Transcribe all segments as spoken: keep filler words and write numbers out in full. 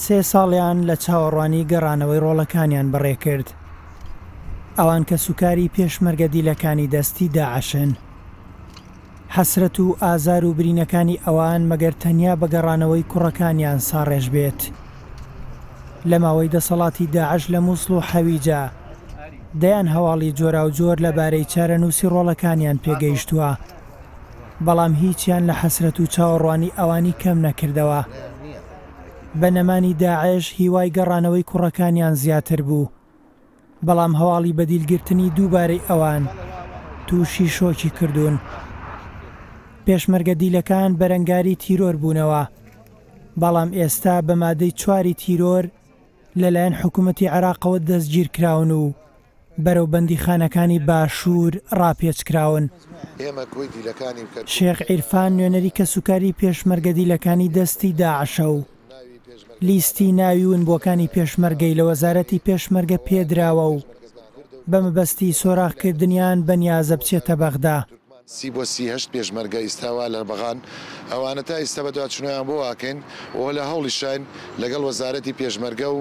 سێ ساڵیان لە چاوەڕوانی گەڕانەوەی ڕۆڵەکانیان بەڕێکرد. ئەوان کەسوکاری پێشمەرگە دیلەکانی دەستی داعشن. حەسرەت و ئازار و برینەکانی ئەوان مەگەر تەنیا بە گەڕانەوەی کوڕەکانیان ساڕێژ بێت. لە ماوەی دەسەڵاتی داعش لە مووسڵ و حەویجە دەیان هەواڵی جۆراوجۆر لەبارەی چارەنووسی ڕۆڵەکانیان پێگەیشتووە، بەڵام هیچیان لە حەسرەت و چاوەڕوانی ئەوانی کەم نەکردەوە. بە نەمانی داعش هیوای گەڕانەوەی کوڕەکانیان زیاتر بوو، بەڵام هەواڵی بەدیلگرتنی دووبارەی ئەوان تووشی شۆکی کردوون. پێشمەرگە دیلەکان بەرەنگاری تیرۆر بوونەوە، بەڵام ئێستا بە مادەی چواری تیرۆر لەلایەن حکوومەتی عێراقەوە دەستگیر کراون و بەرەو بەندیخانەکانی باشوور ڕاپێچ کراون. شێخ عیرفان نوێنەری کەسوکاری پێشمەرگە دیلەکانی دەستی داعشە و لیستی ناوی ونبووەکانی پێشمەرگەی لە وەزارەتی پێشمەرگە پێدراوە و بە مەبەستی سۆراخکردنیان بەنیازە بچێتە بەغدا. سی بۆ سی هەشت پێشمەرگە ئیستا لە بەغان ئەوانە تا ئیستا بەدواچوونیان بۆ واکەین و لە هەوڵیشین لەگەڵ وەزارەتی پێشمەرگە و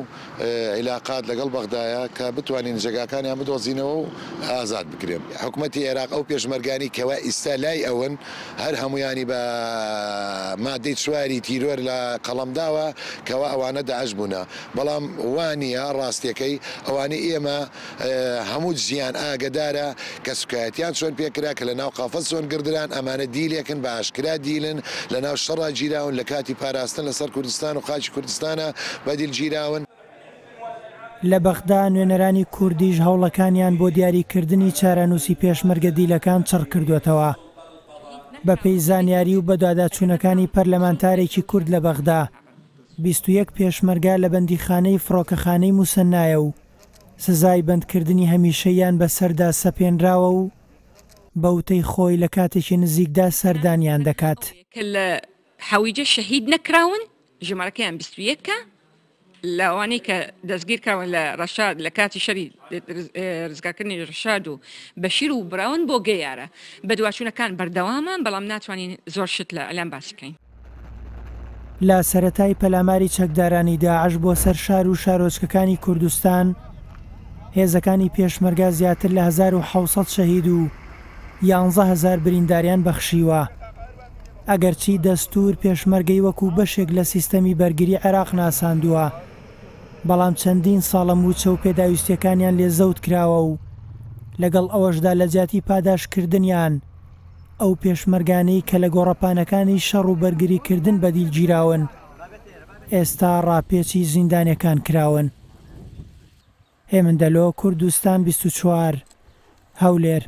عیلاقات لەگەڵ بەغدایە کە بتوانین جێگاکانیان بدۆزینەوە و ئازاد بکرێن. حکوومەتی عێراق ئەو پێشمەرگانی کەوا ئیستا لای ئەون هەر هەمویانی بە مادەی چواری تیرۆر لە قەڵەمداوە کەوا ئەوانە داعش بوونە، بەڵام وانییە ڕاستیەکەی ئەوانەی ئێمە هەموو جیان ئاگدارە کە سوکایەتیان چۆن پێکرا کە لە ناو قافەز چۆن گردران. ئەمانە دیلێکن بە ئاشکرا دیلن لە ناو شەڕا گیراون، لە کاتی پاراستن لەسەر کوردستان و خاکی کوردستانە بەدیل گیراون. لە بەغدا نوێنەرانی کوردیش هەوڵەکانیان بۆ دیاریکردنی چارەنووسی پێشمەرگە دیلەکان چڕ کردوێتەوە. بەپێی زانیاری و بەدواداچوونەکانی پەرلەمانتارێکی کورد لە بەغدا، بیست و یەک پێشمەرگە لە بەندیخانەی فڕۆکەخانەی موسەننایە و سزای بەندکردنی هەمیشەیان بەسەردا سەپێنراوە و بەوتەی خۆی لە کاتێکی نزیکدا سەردانیان دەکات. کە لە حەویجە شەهید نەکراون ژمارەکەیان بیست و یەکە، لەوانەی کە دەستگیر کراون لە ڕەشاد لە کاتی شەری ڕزگارکردنی ڕەشاد و بەشیر و براون بۆ گەیارە. بەدواچوونەکان بەردەوامە، بەڵام ناتوانین زۆر شت لە ئەلام باسی بکەین. لە سەرەتای پەلاماری چەکدارانی داعش بۆ سەر شار و شارۆچکەکانی کوردستان، هێزەکانی پێشمەرگە زیاتر لە هەزار و حەوت سەد شەهید و یانزە هەزار برینداریان بەخشیوە. ئەگەرچی دەستور پێشمەرگەی وەکو بەشێک لە سیستەمی بەرگری عێراق ناساندووە، بەڵام چەندین ساڵە موچە و پێداویستیەکانیان لێ زەوت کراوە و لەگەڵ ئەوەشدا لە جیاتی پاداشکردنیان ئەو پێشمەرگانەی کە لە گۆڕەپانەکانی شەڕ و بەرگریکردن بەدیل گیراون ئێستا ڕاپێچی زیندانیەکان کراون. هێمن دەلۆ، کوردستان بیست و چوار، هەولێر.